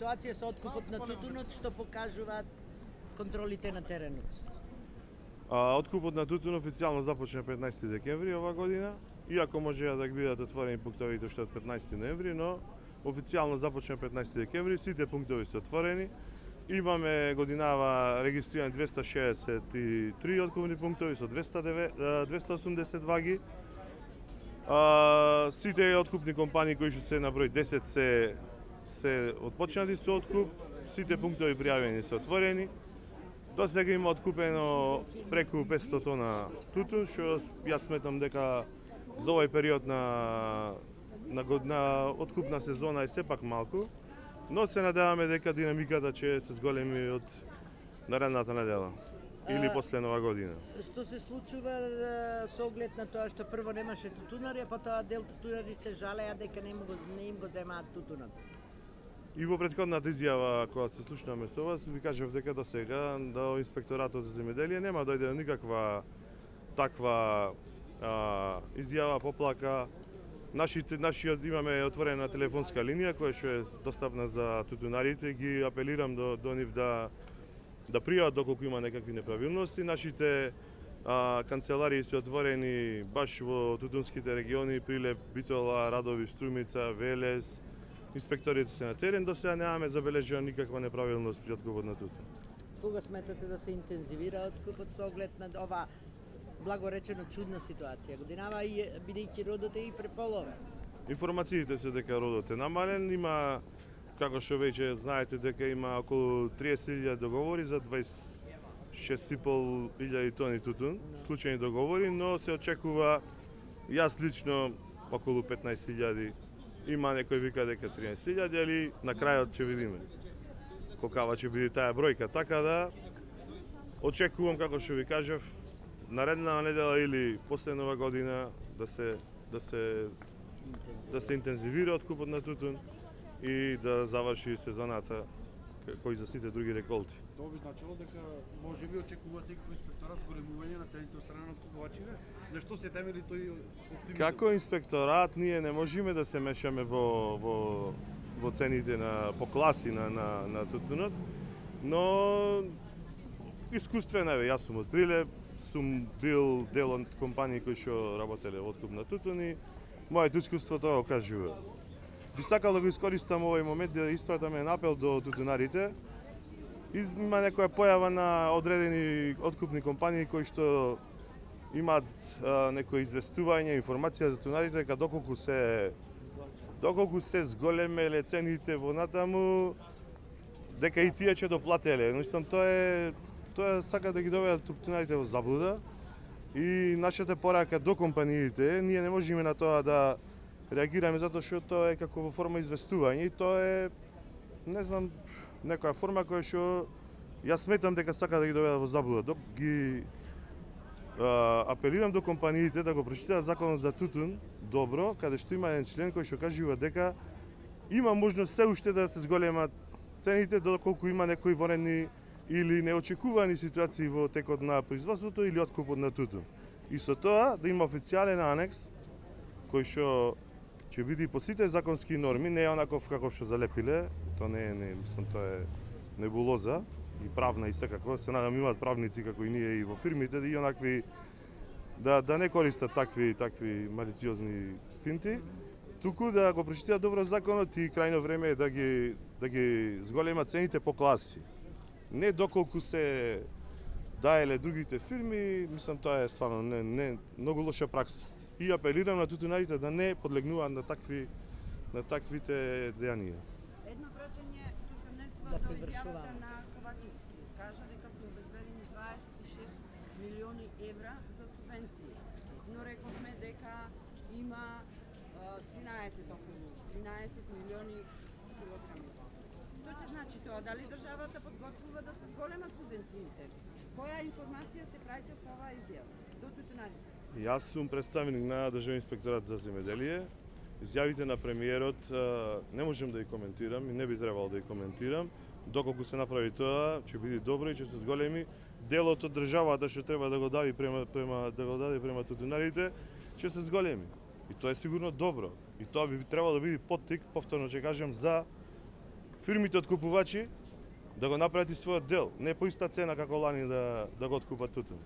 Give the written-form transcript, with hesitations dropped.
ситуација со откупот на тутунот, што покажуваат контролите на теренот? Откупот на тутун официјално започна 15 декември ова година, иако можеа да бидат отворени пунктовите уште од 15 ноември, но официјално започна 15 декември, сите пунктови се отворени. Имаме годинава регистрирани 263 откупни пунктови со 280 ваги. Сите откупни компании кои се на број 10 се отпочнати со откуп, сите пунктови пријавени се отворени. До сега има откупено преку 500 тона тутун, што јас сметам дека за овој период на откупна сезона е сепак малку, но се надеваме дека динамиката ќе се зголеми од наредната недела или после Нова година. Што се случува со оглед на тоа што прво немаше тутунари, а потоа дел тутунари се жалеа дека не им го земаат тутунот? И во претходната изјава кога се слушнаме со вас, ви кажав дека до сега до Инспекторатот за земјоделие нема дојде никаква таква изјава, поплака. Нашиот имаме отворена телефонска линија која што е достапна за тутунарите, ги апелирам до нив да пријават доколку има некакви неправилности. Нашите канцеларии се отворени баш во тутунските региони, Прилеп, Битола, Радови, Струмица, Велес. Инспекторите се на терен, до сега немаме забележена никаква неправилност при откупот на тутун. Кога сметате да се интензивира откупот со оглед на ова благоречено чудна ситуација? Годинава бидејќи родот е и преполовен. Информациите се дека родот е намален, има, како што веќе знаете, дека има околу 30.000 договори за 26.500 тони тутун, случајни договори, но се очекува, јас лично, околу 15.000. Има некој вика дека 13.000, али на крајот ќе видиме колкава ќе биде таа бројка. Така да очекувам, како што ви кажав, наредна недела или после Нова година да се интензивира откупот на тутун и да заврши сезоната кој за сите други реколти. Тоа би значило дека може би очекувате како инспекторат зголемување на цените од страна на откупувачите? На што се темели тој оптимизам? Како инспекторат ние не можеме да се мешаме во цените по класи на тутунот, но искуствено е, јас сум од Прилеп, сум бил дел од компании кои што работеле во откуп на тутун и моето искуство тоа го кажува. Би сакал да го искористам овој момент да испратам еден апел до тутунарите. Има некоја појава на одредени откупни компании кои што имаат некои известување, информација за тутунарите дека доколку се зголемеле цените во натаму, дека и тие ќе доплателе. Мислам, тоа сака да ги доведат тутунарите во заблуда и нашата порака до компаниите, ние не можеме на тоа да реагираме затоа што тоа е како во форма известување и тоа е, не знам, некоја форма која што јас сметам дека сака да ги доведат во заблуда. Апелирам до компаниите да го прочитаат законот за тутун добро, каде што има еден член кој што кажува дека има можност се уште да се зголемат цените доколку има некои вонредни или неочекувани ситуации во текот на производството или откупот на тутун. И со тоа да има официјален анекс кој што ќе биде по сите законски норми, не е онаков каков што залепиле, тоа не е, мислам, тоа е небулоза и правна и секако. Се надам имаат правници како и ние и во фирмите и онакви да не користат такви малициозни финти, туку да го прочитаат добро законот и крајно време е да ги зголемат цените по класи. Не доколку се даеле другите фирми, мислам тоа е стварно не многу лоша пракса. И апелирам на тутунарите да не подлегнуваат на таквите дејанија. Едно прашање што се внесува во изјавата на Ковачевски. Кажа дека се обезбедени 26 милиони евра за субвенции. Но рековме дека има 13 милиони килограми. Што ќе значи тоа? Дали државата подготвува да се зголемат субвенциите? Која информација се праќа со оваа изјава до тутунарите? Јас сум представник на Државен инспекторат за земјоделие. Изјавите на премиерот не можам да ги коментирам и не би требало да ги коментирам. Доколку се направи тоа, ќе биде добро и ќе се зголеми. Делот од државата што треба да го даде према тутунарите, ќе се зголеми. И тоа е сигурно добро. И тоа би требало да биде поттик, повторно ќе кажам, за фирмите откупувачи да го направат и својот дел, не по иста цена како лани да го откупат тутун.